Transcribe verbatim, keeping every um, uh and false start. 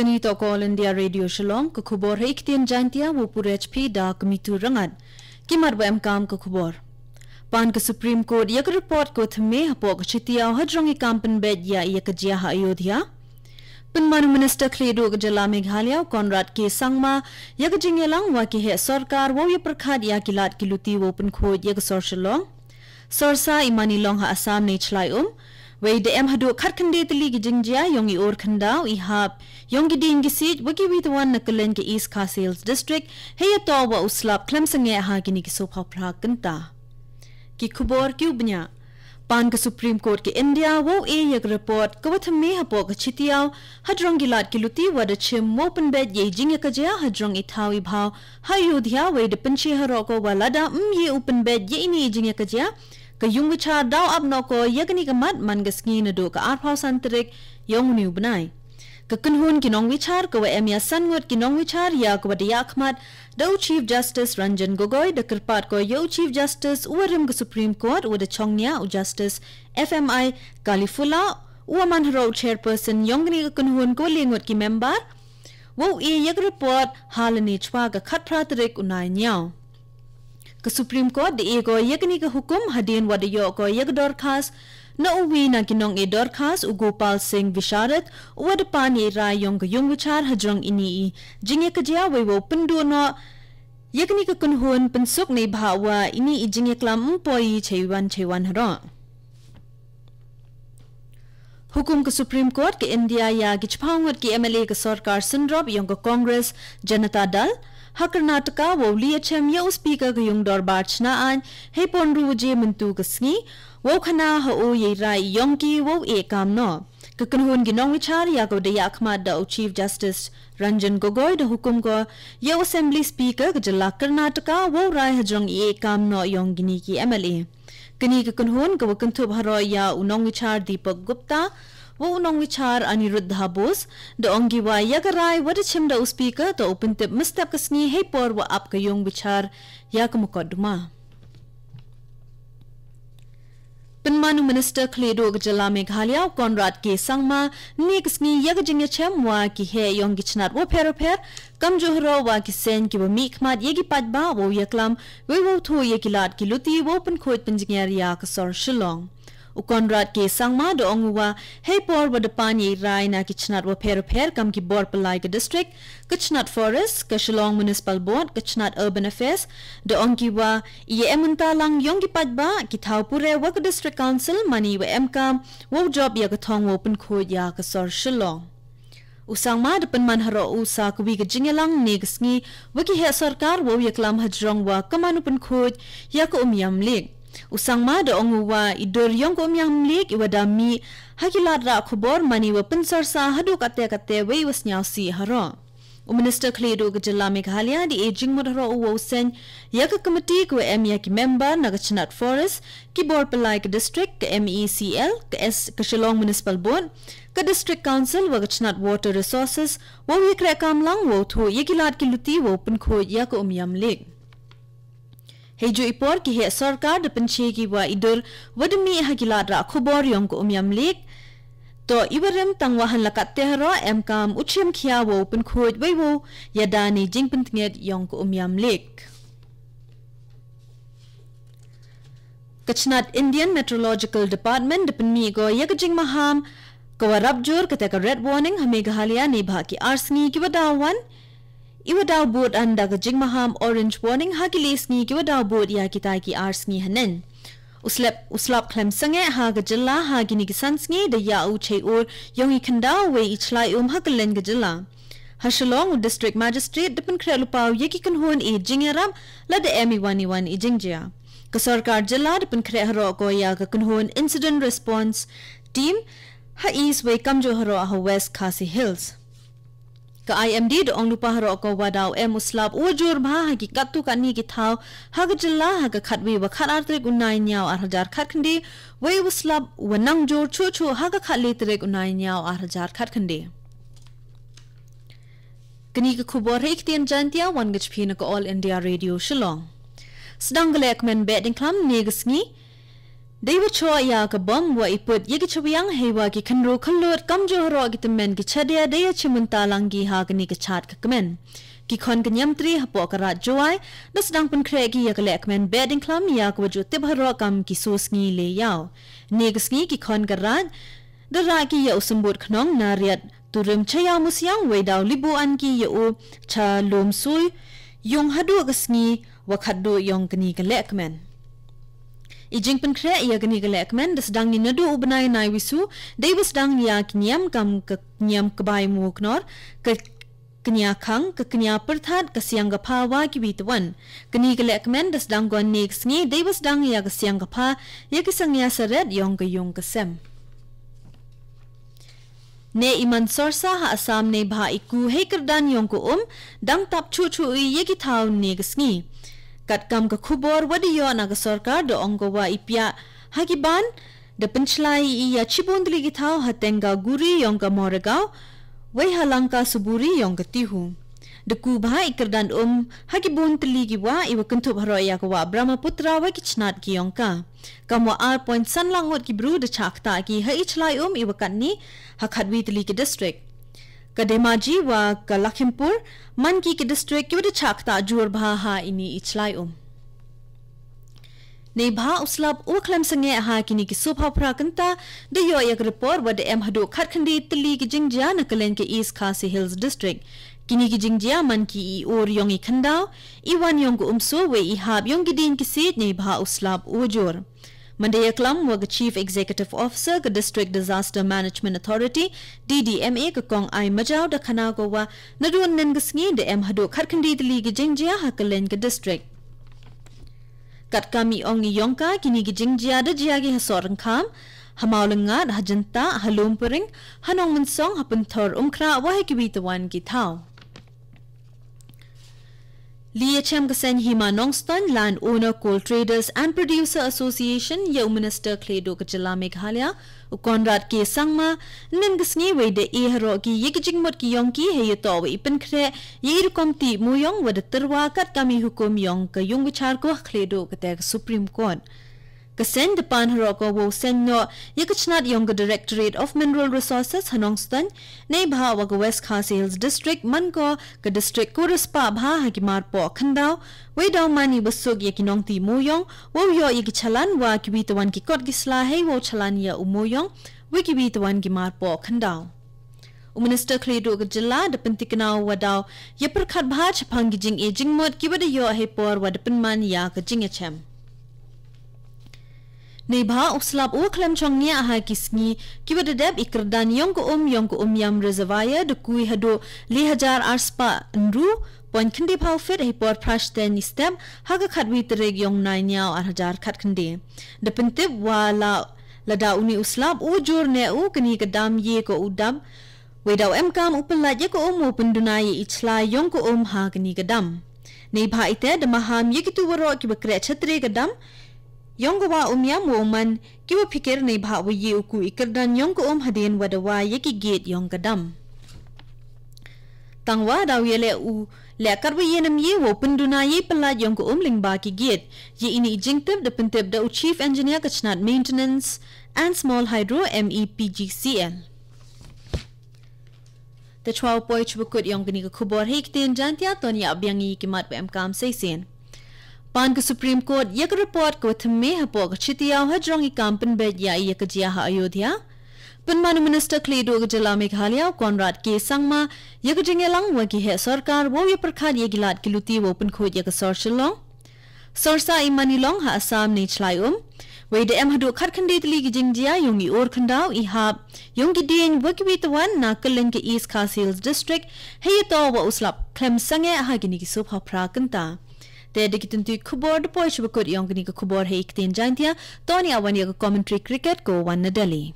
Kani toh ka All India Radio Shillong, ka khubor ha i ktien Jaintia, wa pure H P da ka Mitu Rangat. Ki mat wa emkam ka khubor. Pan ka Supreme Court ya ka report ka thymme hapoh ka chitiaw hajrong i kam pynbeit ya i ya ka jia ha Ayodhya. Pynman u Minister Khlieh Duh ka jylla Meghalaya u Conrad K Sangma ya ka jingyalang wa ki heh sorkar wow ya pyrkhat ya ki lad ki luti wow pynkhuid ya ka sor Shillong. Sorsa i man i long ha Assam ne chlai um. Wei da em haduh khatkhyndai tylli ki jingjia yong i ur khyndaw i hap yong ki dieng ki siej wa kiwi tawon na kylleng ka East Khasi Hills District, hei ya to wa u slap khlem sangeh ha kini ki sophaw phra kynta. Ki khubor ki u bniah. Pan ka Supreme Court ka India wow e ya ka report ka wa thymme hapoh ka chitiaw hajrong ki lad ki luti wa da chim wow pynbeit ya i jing ya ka jia hajrong i thaw i bhaw ha Ayodhya, wei da pynche haroh ko wa lada ym ye u pynbeit ya ini i jing ya ka jia, ka yung bichar daw ap noh ko ya kani ka mat man ka sngi naduh ka arphaw san tarik yong uni u bnai. Ka kynhun ki nongbichar ka wa em ya san ngut ki nongbichar ya ka wa da yakhmat da u Chief Justice Ranjan Gogoi da kyrpad ko ya u Chief Justice u wa rim ka Supreme Court u wa da chong nia u Justice F M I Kalifulla u wa man haroh u chairperson yong kani ka kynhun ka wa le ngut ki member wow e ya ka report ha lane chwa ka khatphra tarik u Naiñiaw. Ka Supreme Court da e ko ya kani ka hukum hadien wa da yoh ko ya ka dorkhas na uwi na ki nong e dorkhas u Gopal Singh Visharad u wa da pan ya i rai yong ka yung bichar hajrong ini i jing ya ka jia, wei wow pynduh noh ya kani ka kynhun pynsuk nei bha wa ini i jing ya klam ym poi i chei wan chei wan haroh. Hukum ka Supreme Court ka India ya ki chiphaw ngut ki M L A ka sorkar synrop yong ka Congress Janata Dal ha Karnataka wow li ya chem ya u Speaker ka yung dorbar chna aiñ hei por ynru waje mynta ka sngi wow khana ha u ya i rai yong ki wow e kam noh. Ka kynhun ki nongbichar ya ka wa da yakhmat da u Chief Justice Ranjan Gogoi da hukum ko ya u Assembly Speaker ka jylla Karnataka wow rai hajrong i e kam noh yong kini ki M L A. Kani ka kynhun ka wa kynthup haroh ya u nongbichar Deepak Gupta wa u nongbichar Aniruddha Bose da ong ki wa ya ka rai wa da chim da u Speaker to u pyntip mynstep ka sngi hei por wa ap ka yung bichar ya ka mukotduma. Pynman u Minister Khlieh Duh ka jylla Meghalaya u Conrad K Sangma ne ka sngi ya ka jing ya chem wa ki heh yong ki chnat wa pher wa pher kamjooh haroh wa ki seng ki wa mih khmat ya ki paidbah wow ya klam wei wow thuh ya ki lad ki luti wow pynkhuid pynjngiar ya ka sor Shillong. U Conrad K Sangma da ong u wa hei por wa da pan ya i rai na ki chnat wa pher wa pher kam ki bor pynlai ka district, ka chnat Forest, ka Shillong Municipal Board, ka chnat Urban Affairs, da ong ki wa i ya em mynta lang yong ki paidbah, ki thaw pure wa ka District Council mani wa em kam wow jop ya ka thong wow pynkhuid ya ka sor Shillong. U Sangma da pynman haroh u sa ka wi ka jingyalang ne ka sngi wa ki heh sorkar wow ya klam hajrong wa ka man u pynkhuid ya ka um yam liek. U Sangma da ong u wa i dur yong ka um yam liek i wa da mih ha ki lad rah khubor mani wa pynsorsa haduh katte katte wei wa sniaw sih haroh. U Minister Khlieh Duh ka jylla Meghalaya da e jingmut haroh u wow seng ya ka committee ka wa em ya ki member na ka chnat Forest, ki bor pynlai ka district, ka M E C L, ka S, ka Shillong Municipal Board, ka District Council wa ka chnat Water Resources wow ya kreh kam lang wow thuh ya ki lad ki luti wow pynkhuid ya ka um yam liek. Hei juh i por ki heh sorkar da pynche ki wa i dur wa da mih ha ki lad rah khubor yong ka um yam liek. To i wa rim tang wa han la katte haroh em kam u chim khia wow pynkhuid wei wow ya da ni jingpyntngit yong ka um yam liek. Ka chnat Indian Meteorological Department da pynmih ko ya ka jingmaham ka wa rap jur kata ka red warning ha Meghalaya ne bha ki ar sngi ki wa daw wan. I wa daw bud an da ka jingmaham orange warning ha ki le sngi ki wa daw bud ya kita ki ar sngi hanen. U slap, u slap khlem sangeh ha ka jylla ha kini ki san sngi da ya u chei ur yong i khyndaw wei i chlai um ha kylleng ka jylla. Ha Shillong u District Magistrate da pynkhreh lypaw ya ki kynhun i jingyarap lada em i wan i wan i jingjia. Ka sorkar jylla da pynkhreh haroh ko ya ka kynhun Incident Response Team ha East wei kamjooh haroh ha West Khasi Hills. Ka I M D da ong lypa haroh ko wa daw em u slap u wa jur bha ha ki katto katne ki thaw ha ka jylla ha ka khatwi wa khatar tarik u Naiñiaw ar hajar khatkhyndai, wei u slap u wa nang jur chuh chuh ha ka khatle tarik u Naiñiaw ar hajar khatkhyndai. Kani ka khubor ha i ktien Jaintia wan ka jpi na ka All India Radio Shillong. Sdang ka lehkmen Behdeinkhlam ne ka sngi Dei wa choh ïa ka bom wa i put ïa ki chawiang hei wa ki khynru khyllut kamjooh haroh ki tymmen ki chadia dei ya chimynta lang ki ha kani ka chad ka kmen. Ki khon ka niamtre hapoh ka Raid Jowai da sdang pynkhreh ki ïa ka lehkmen behdeinkhlam ïa ka wa ju tip haroh kam ki so sngi le ïaw. Ne ka sngi ki khon ka Raid da rah ki ïa u symbud khnong na riat turim cha ïaw musiang wei daw libu an ki ïa u cha lum sui yung haduh ka sngi wa khatduh yong kani ka lehkmen. I jingpynkhreh ïa kani ka lehkmen da sdang ni naduh u bnai Naiwisu dei wa sdang ïa ki niam kam ka niam kbai mu knor, ka knia khang, ka knia pyrthat, ka siang ka pha wa ki wi twan. Kani ka lehkmen da sdang gon ne ka sngi dei wa sdang ïa ka siang ka pha ïa ki sangnia saret yong ka yung ka sem. Ne i man sorsa ha Assam ne bha i ku hei kyrdan yong ka um dang tap chu chu i ïa ki thaw ne ka sngi. Katkam ka khubor wa da ïoh na ka sorkar da ong ka wa i piah ha ki ban da pynchlai i ïa chibun tylli ki thaw ha Tengaguri yong ka Moregaon wei ha Langkasuburi yong ka Tihu. Da ku bha i kyrdan um ha ki bun tylli ki wa i wa kynthup haroh ïa ka wa Brahmaputra wa ki chnat ki yong ka. Kam wa ar point san lak ngut ki bru da chah ktah ki ha i chlai um i wa katni ha khatwi tylli ki district. Ka Dhemaji wa ka Lakhimpur man ki ki district ki wa da chah ktah jur bha ha ini i chlai um. Nei bha u slap u khlem sangeh ha kini ki sop ha phra kynta da ïoh ïa ka report wa da em haduh khatkhyndai tylli ki jingjia na kylleng ka East Khasi Hills District. Kini ki jingjia man ki i ur yong i khyndaw, i wan yong ka umso wei i hap yong ki ding ki siej nei bha u slap u jur. Manda ïa klam wa ka Chief Executive Officer ka District Disaster Management Authority, D D M A, ka Kong Ai Majaw da khana ko wa naduh nen ka sngi da em haduh khatkhyndai tylli ki jingjia ha kylleng ka district. Katkam i ong i yong ka kini ki jingjia da jia ki ha Sohryngkham, ha Mawlyngad, ha Jyntah, ha Lumpring, ha Nongmynsong, ha Pynthor Umkhrah wa ha ki wi twan ki thaw. Li ïa chem ka seng Hima Nongstoiñ Land Owner Coal Traders and Producer Association ïa u Minister Khlei Duh ka Jylla Meghalaya u Conrad K Sangma, nen ka sngi wei da e haroh ki ïa ki jingmut ki yong ki hei ïa toh wa i pynkhreh ïa i rukom tih muyong wa da tyrwa katkam i hukum yong ka yung bichar ko ha Khlei Duh kata ka Supreme Court. Ka seng da pan haroh ko wow seng noh ïa ka chnat yong ka Directorate of Mineral Resources ha Nongstoiñ, nei bha wa ka West Khasi Hills District man ko ka district ko rispah bha ha ki marpoh khyndaw, wei daw man i wa suk ïa ki nongtih muyong, wow ïoh ïa ki chalan wa ki wi twan ki kot ki sla hei wow chalan ïa u muyong, wei ki wi twan ki marpoh khyndaw. U Minister Khlei Duh ka Jylla da pyntikna wa daw ïa pyrkhat bha chaphang ki jing e jingmut ki wa da ïoh hei por wa da pynman ïa ka jingïachem. Nei bha u slap u khlem chong nia ha ki sngi ki wa da dep i kyrdan yong ka um yong ka um yam reservoir da kui haduh le hajar arspah nru point khyndai phaw fit hei por phrash ten i step ha ka khatwi tarik yong nai niaw ar hajar khatkhyndai. Da pyntip wa la lada uni u slap u jur ne u kani ka dam ïe ko u dam. Wei daw em kam u pynlait ïa ka um u pynduna ïa i chlai yong ka um ha kani ka dam. Nei bha ite da maham ïa ki tu waroh ki wa kreh chatre ka dam. Yong ka wa um yam wa u man ki wa phikir nei bha wa ïe u ku i kyrdan yong ka um hadien wa da wa ïa ki gate yong ka dam. Tang wa daw ïa le u le kat wa ïe nam ïe wa u pynduna ïa i pynlait yong ka um lyngba ki gate. Ïa ini i jingtip da pyntip da u Chief Engineer ka chnat Maintenance and Small Hydro M E P G C L. Te chwa u poi chwa kut yong kani ka khubor hei ktien Jaintia ton ïa biang i ki mat wa em kam sei sien. Pan ka Supreme Court ïa ka report ka wa thymme hapoh ka chitiaw ha jrong i kam pynbeit ïa i ïa ka jia ha Ayodhya. Pynman u Minister Khlei Duh ka Jylla Meghalaya u Conrad K Sangma ïa ka jingïalang wa ki heh sorkar wow ïa pyrkhat ïa ki lad ki luti wow pynkhuid ïa ka sor Shillong. Sorsa i mani long ha Assam nei chlai um. Wei da em haduh khatkhyndai tylli ki jingjia yong i ur khyndaw i hap yong ki dien wa ki wi twan na kylleng ka East Khasi Hills District hei ïa toh wa u slap khlem sangeh ha kini ki sop ha phra kynta. Te da ki tyntu khubor da poi chwa kut yong kini ka khubor hei ktien Jaintia ton ïa wan ïa ka commentary cricket ko wan na Delhi.